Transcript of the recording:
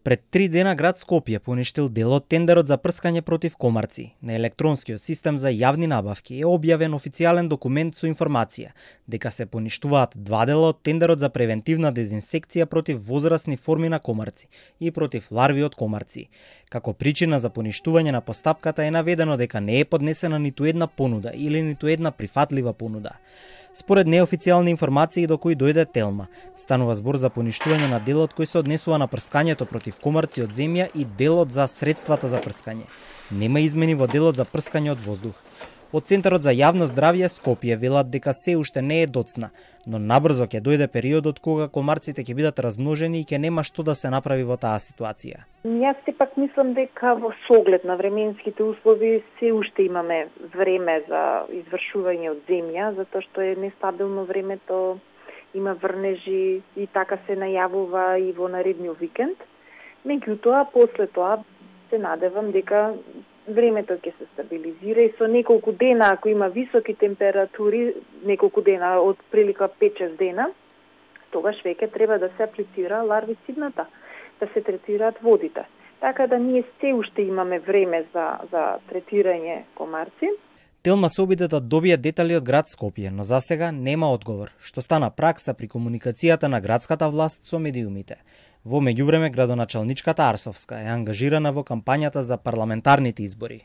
Пред 3 дена град Скопје поништил дел од тендерот за прскање против комарци. На електронскиот систем за јавни набавки е објавен официјален документ со информација дека се поништуваат 2 дела од тендерот за превентивна дезинсекција против возрасни форми на комарци и против ларви од комарци. Како причина за поништување на постапката е наведено дека не е поднесена ниту една понуда или ниту една прифатлива понуда. Според неофицијални информации до кои дојде Телма, станува збор за поништување на делот кој се однесува на прскањето против комарци од земја и делот за средствата за прскање. Нема измени во делот за прскање од воздух. Од Центарот за јавно здравје Скопје велат дека се уште не е доцна, но набрзо ќе дојде периодот кога комарците ќе бидат размножени и ќе нема што да се направи во таа ситуација. Јас сепак мислам дека во соглед на временските услови се уште имаме време за извршување од земја, затоа што е нестабилно времето, има врнежи и така се најавува и во наредниот викенд. Меѓутоа, после тоа се надевам дека времето ќе се стабилизира и со неколку дена, ако има високи температури, неколку дена, од прилика 5-6 дена, тогаш веќе треба да се аплицира ларвицидната, да се третираат водите. Така да ние се уште имаме време за третирање комарци. Телма се обиде да добие детали од град Скопје, но засега нема одговор, што стана пракса при комуникацијата на градската власт со медиумите. Во меѓувреме, градоначалничката Арсовска е ангажирана во кампањата за парламентарните избори.